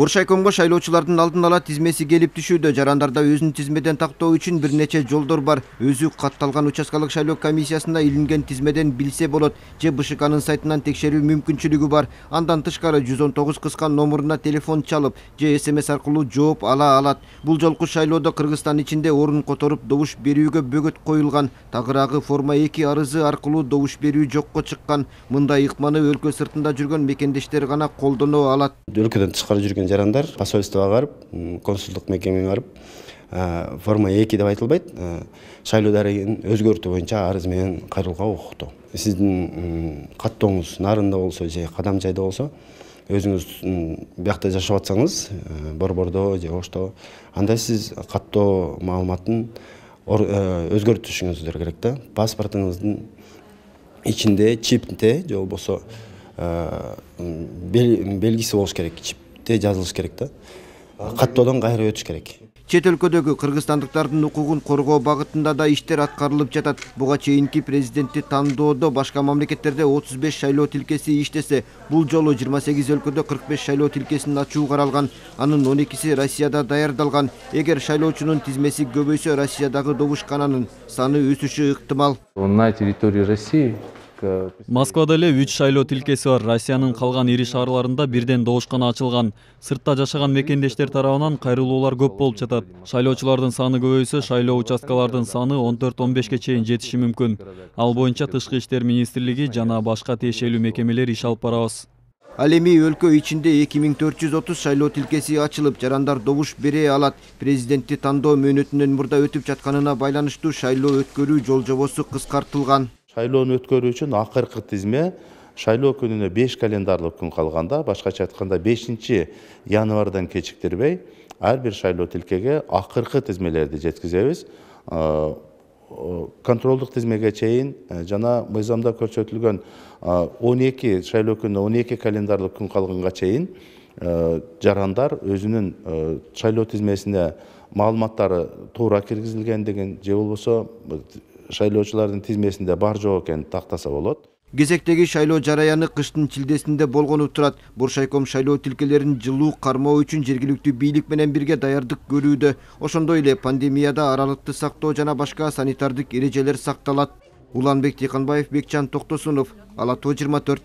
Буршайкомго шайлоочулардын алдын ала тизмеси келип түшүүдө. Жарандарда өзүн тизмеден тактоо үчүн бир нече жолдор бар. Өзү катталган участкалык шайлоо комиссиясына илинген тизмеден билсе болот же БШКнын сайтынан текшерүү мүмкүнчүлүгү бар. Андан тышкары 119 кыска номуруна телефон чалып же СМС аркылуу жооп ала алат. Бул жолку шайлоодо Кыргызстан ичинде орун которуп добуш берүүгө бөгөт коюлган. Тагыраагы форма 2 арызы аркылуу добуш берүү жокко чыккан. Мындай ыкманы өлкө сыртында жүргөн мекендештер гана колдоно алат. Өлкөдөн тышкары жүргөн жарандар посольствого барып, консулдук мекемеге барып, форма 2 деп айтылбайт, шайлоо дарегин өзгөртүү боюнча арыз менен кайрылууга укуктуу. Сиздин каттооңуз нарында болсо же Кадамжайда болсо, өзүңүз биякта жашап атсаңыз, Борбордо же Ошто, анда сиз каттоо маалыматын өзгөртүшүңүз керек да. Паспортуңуздун ичинде чипте же болбосо белгиси болуш керек, чипте жазылыш керек да. Каттоодон кайра өтүш керек. Чет өлкөдөгү кыргызстандыктардын укугун коргоо багытында да иштер аткарылып жатат. Буга чейинки президентти тандоодо башка мамлекеттерде 35 шайлоо тилкеси иштесе, бул жолу 28 өлкөдө 45 шайлоо тилкесин ачуу каралган. Анын 12си Россияда даярдалган. Эгер шайлоочунун тизмеси көбөйсө, Россиядагы добушкананын саны өсүшү ыктымал. На территории России Москвада эле 3 шайлоо тилкеси бар. Россиянын калган ири шаарларында бирден добушкана ачылган. Сыртта жашаган мекендештер тарабынан кайрылуулар көп болуп жатат. Шайлоочулардын саны көбөйсө, шайлоо участкалардын саны 14-15ке чейин жетиши мүмкүн. Ал боюнча Тышкы иштер министрлиги жана башка тиешелүү мекемелер иш алып барабыз. Ал эми өлкө ичинде 2430 шайлоо тилкеси ачылып, жарандар добуш бере алат. Президентти тандоо мөөнөтүнөн мурда өтүп жатканына байланыштуу шайлоо өткөрүү жол-жобосу кыскартылган. Шайлоону өткөрүү үчүн акыркы тизме шайлоо күнүнө 5 календарлык күн калганда, башкача айтканда 5-январдан кечиктирбей, ар бир шайлоо тилкеге акыркы тизмелерди жеткизебиз. Контролдук тизмеге чейин жана мыйзамда көрсөтүлгөн 12 шайлоо күнүнө 12 календарлык күн калганга чейин жарандар өзүнүн шайлоо тизмесине маалыматтары туура киргизилгендигин же болбосо шайлоочулардын тизмесинде бар жок экенин тактаса болот. Кезектеги шайлоо жараяны кыштын чилдесинде болгону турат. Буршайком шайлоо тилкелерин жылуу кармоо үчүн жергиликтүү бийлик менен бирге даярдык көрүүдө. Ошондой эле пандемияда аралыкты сактоо жана башка санитардык эрежелер сакталат. Уланбек Тыйканбаев, Бекжан Токтосунов, Ала Тоо 24.